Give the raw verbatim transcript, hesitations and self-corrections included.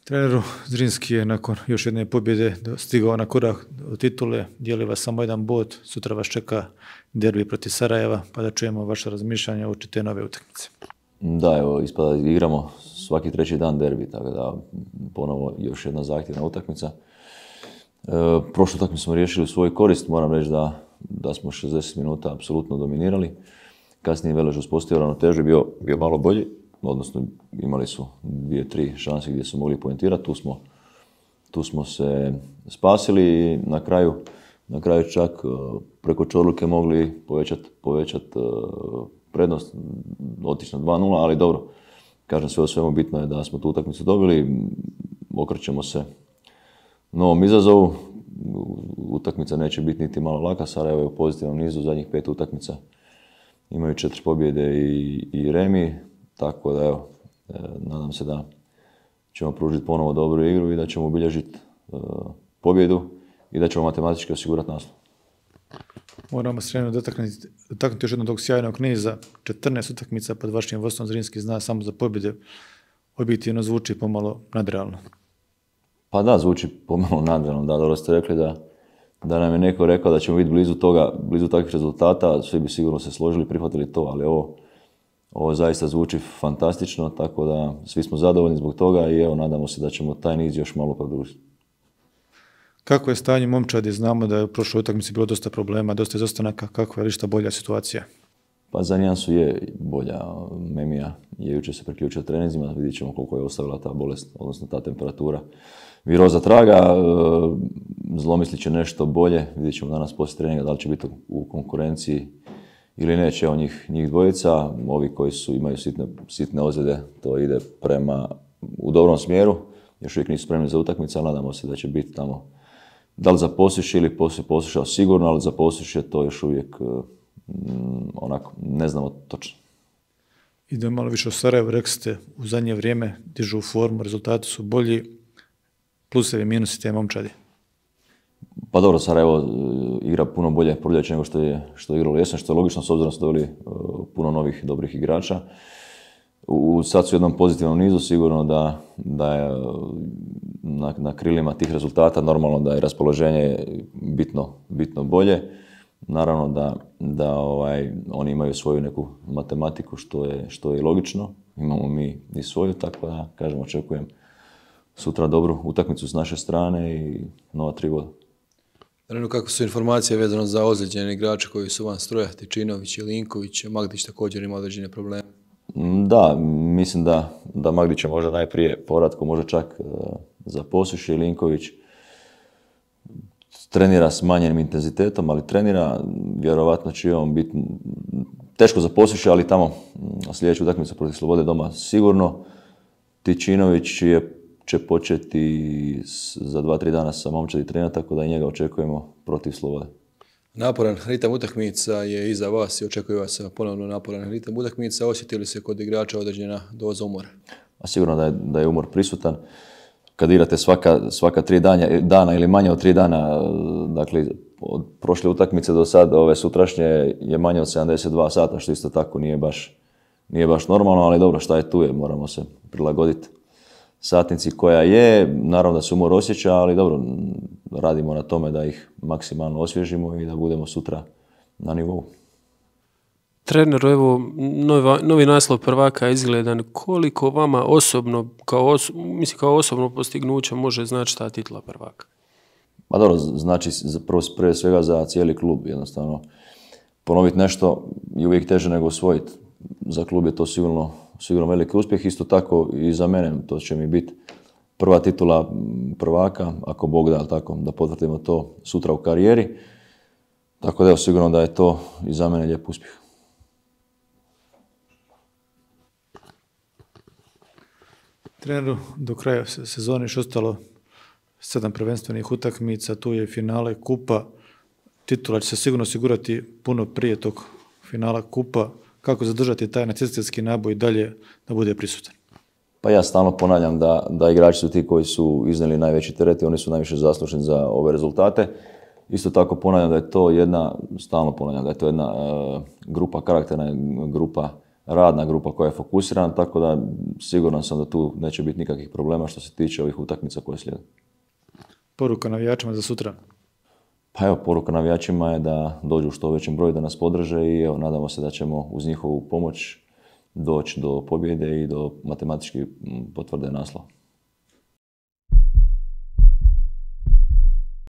Treneru, Zrinski je nakon još jedne pobjede stigao na korak do titule, dijeli vas samo jedan bod, sutra vas čeka derbi protiv Sarajeva, pa da čujemo vaše razmišljanja uoči te nove utakmice. Da, evo, ispada igramo svaki treći dan derbi, tako da ponovo još jedna zahtjevna utakmica. E, prošlu utakmicu smo riješili u svoju korist, moram reći da, da smo šezdeset minuta apsolutno dominirali. Kasnije Velež uspostavio ravnotežu, bio, bio malo bolji, odnosno imali su dvije, tri šanse gdje su mogli poentirati, tu smo, tu smo se spasili i na kraju, na kraju čak preko Čorluke mogli povećati povećat prednost, otići na dva nula, ali dobro, kažem sve o svemu bitno je da smo tu utakmicu dobili, okrećemo se novom izazovu, utakmica neće biti niti malo laka, Sarajevo je u pozitivnom nizu, zadnjih pet utakmica imaju četiri pobjede i, i remi. Tako da evo, e, nadam se da ćemo pružiti ponovo dobru igru i da ćemo obilježiti e, pobjedu i da ćemo matematički osigurati naslov. Moramo se jedno dotaknuti, dotaknuti još jednog tog sjajnog niza, četrnaest utakmica pod vašim vodstvom. Zrinski zna samo za pobjede, objektivno zvuči pomalo nadrealno. Pa da, zvuči pomalo nadrealno, da, dobro ste rekli da, da nam je neko rekao da ćemo biti blizu toga, blizu takvih rezultata, svi bi sigurno se složili, prihvatili to, ali ovo Ovo zaista zvuči fantastično, tako da svi smo zadovoljni zbog toga i evo, nadamo se da ćemo taj niz još malo produžiti. Kako je stanje momčadi? Znamo da je u prošloj utakmici bilo dosta problema, dosta izostanaka. Kako je lišta bolja situacija? Pa za nijansu je bolja. Memija je jučer se priključila treninzima, vidjet ćemo koliko je ostavila ta bolest, odnosno ta temperatura viroza traga. Zlomislit će nešto bolje, vidjet ćemo danas poslije treninga da li će biti u konkurenciji ili neće, evo njih, njih dvojica, ovi koji su, imaju sitne, sitne ozljede, to ide prema, u dobrom smjeru, još uvijek nisu spremni za utakmice, ali nadamo se da će biti tamo, da li za Posušje ili poslije Posušja sigurno, ali za Posušje to još uvijek mm, onako, ne znamo točno. Idemo malo više o Sarajevu, rekli ste, u zadnje vrijeme dižu formu, rezultati su bolji, plusevi, minusi te momčadi. Pa dobro, Sarajevo igra puno bolje proljeće nego što je, što je igralo jesen, što je logično s obzirom da su dobili uh, puno novih dobrih igrača. U, sad su u jednom pozitivnom nizu, sigurno da, da je na, na krilima tih rezultata normalno da je raspoloženje bitno, bitno bolje. Naravno da, da ovaj, oni imaju svoju neku matematiku što je, što je logično, imamo mi i svoju, tako da kažem očekujem sutra dobru utakmicu s naše strane i nova tri boda. Naravno, kako su informacije vezano za ozlijeđene igrače koji su van stroja, Tičinović i Linković, Magdić također ima određene probleme? Da, mislim da, da Magdić je možda najprije povratko, možda čak uh, za Posušje. Linković trenira s manjenim intenzitetom, ali trenira, vjerovatno će on biti teško za Posušje, ali tamo sljedeću utakmicu protiv Slobode doma sigurno. Tičinović je će početi za dva, tri dana sa momčadi trenirati, tako da i njega očekujemo protiv Slobode. Naporan ritam utakmica je iza vas i očekuje vas ponovno naporan ritam utakmica. Osjetili se kod igrača određena doza umora? A sigurno da je, da je umor prisutan. Kad igrate svaka, svaka tri dana, dana ili manje od tri dana, dakle od prošle utakmice do sad, ove sutrašnje je manje od sedamdeset dva sata, što isto tako nije baš, nije baš normalno, ali dobro, šta je tu je, moramo se prilagoditi satnici koja je, naravno da se umor osjeća, ali dobro, radimo na tome da ih maksimalno osvježimo i da budemo sutra na nivou. Treneru, evo, novi, novi naslov prvaka je izgledan. Koliko vama osobno, kao, oso, mislim, kao osobno postignuće može znači ta titula prvaka? Pa dobro, znači prvo, prije svega za cijeli klub, jednostavno. Ponoviti nešto je uvijek teže nego osvojiti. Za klub je to sigurno sigurno veliki uspjeh, isto tako i za mene, to će mi biti prva titula prvaka, ako Bog da, tako, da potvrdimo to sutra u karijeri. Tako da je sigurno da je to i za mene lijep uspjeh. Treneru, do kraja sezone još ostalo sedam prvenstvenih utakmica, tu je finale kupa, titula će se sigurno osigurati puno prije tog finala kupa. Kako zadržati taj natjecateljski naboj dalje da bude prisutan? Pa ja stalno ponavljam da, da igrači su ti koji su iznijeli najveći teret i oni su najviše zaslužni za ove rezultate. Isto tako ponavljam da je to jedna, stalno ponavljam da je to jedna uh, grupa karakterna, grupa radna grupa koja je fokusirana, tako da siguran sam da tu neće biti nikakvih problema što se tiče ovih utakmica koje slijede. Poruka navijačima za sutra? Pa evo, poruka navijačima je da dođu u što većem broju, da nas podrže i evo, nadamo se da ćemo uz njihovu pomoć doći do pobjede i do matematički potvrde naslova.